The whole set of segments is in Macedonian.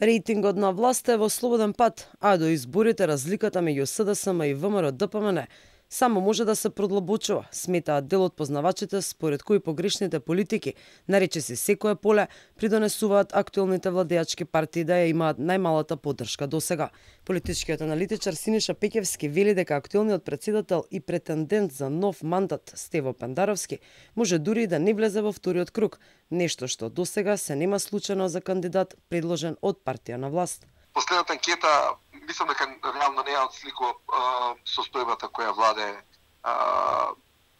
Рейтингот на власта е во слободен пат, а до изборите разликата меѓу СДСМ и ВМРО-ДПМН само може да се продлабочува, сметаат дел од познавачите, според кои погрешните политики, наречиси секое поле, придонесуваат актуелните владеачки партии да ја имаат најмалата поддршка досега. Политичкиот аналитичар Синиша Пеќевски вели дека актуелниот председател и претендент за нов мандат Стево Пендаровски може дури и да не влезе во вториот круг, нешто што досега се нема случајно за кандидат предложен од партија на власт. Последната анкета, мислам дека реално не ја отсликува состојбата која владе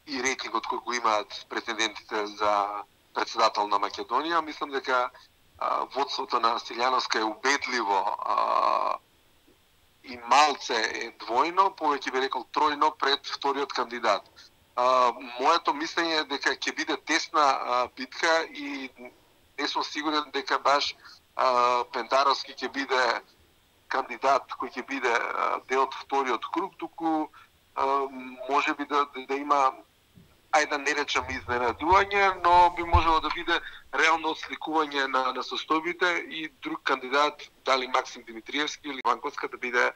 и рейтингот кој го имаат претендентите за председател на Македонија. Мислам дека водството на Стилјановска е убедливо и малце е двојно, повеќе би рекол тројно пред вториот кандидат. Моето мислење е дека ќе биде тесна битка и не сум сигурен дека баш Пендаровски ќе биде кандидат кој ќе биде дел од вториот круг, туку може би да има, ајде да не речам изненадување, но би можело да биде реално отсликување на состојбите и друг кандидат, дали Максим Димитриевски или Ванковска, да биде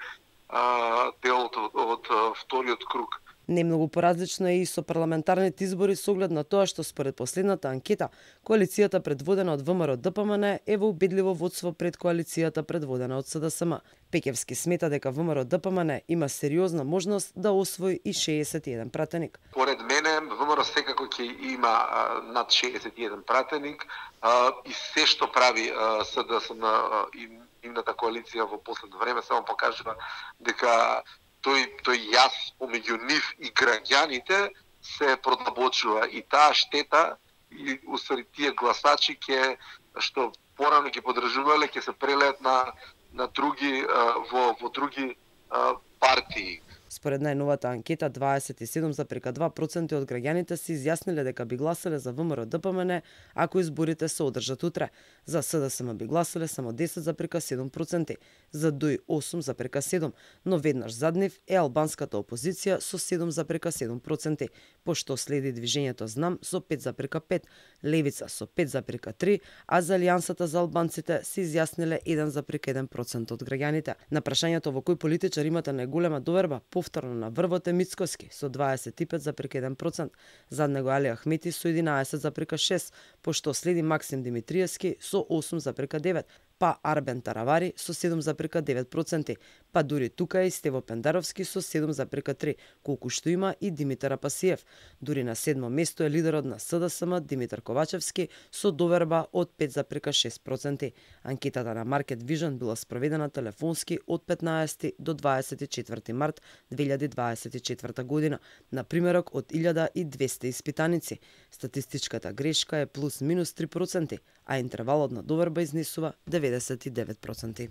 дел од вториот круг. Немногу поразлично е и со парламентарните избори со оглед на тоа што според последната анкета, коалицијата предводена од ВМРО-ДПМН е во убедливо водство пред коалицијата предводена од СДСМ. Пеќевски смета дека ВМРО-ДПМН има сериозна можност да освои и 61 пратеник. Поред мене, ВМРО секако ќе има над 61 пратеник и се што прави СДСМ и нивната коалиција во последно време само покажува дека тој јас помеѓу нив и граѓаните се продлабочува и таа штета и усвари тие гласачи што порано ќе подржувале ќе се прелеат на други во други партии. Според најновата анкета, 27,2% од граѓаните се изјасниле дека би гласале за ВМРО-ДПМН ако изборите се одржат утре. За СДСМ би гласале само 10,7%, за ДОИ 8,7%, но веднаш зад нив е албанската опозиција со 7,7%, пошто следи движењето Знам со 5,5%, Левица со 5,3%, а за Алијансата за албанците се изјасниле 1,1% од граѓаните. На прашањето во кој политичар имате најголема доверба, повторно на врвот е Мицкоски со 25,1%, зад него Али Ахмети со 11,6%, пошто следи Максим Димитриевски со 8,9%, па Арбен Таравари со 7,9%, па дури тука и Стево Пендаровски со 7,3%, колку што има и Димитар Апасиев. Дури на 7-мо место е лидерот на СДСМ Димитар Ковачевски со доверба од 5,6%. Анкетата на Market Vision била спроведена телефонски од 15 до 24 март 2024 година, на примерок од 1200 испитаници. Статистичката грешка е плюс-минус 3%, а интервалот на доверба изнесува 99%.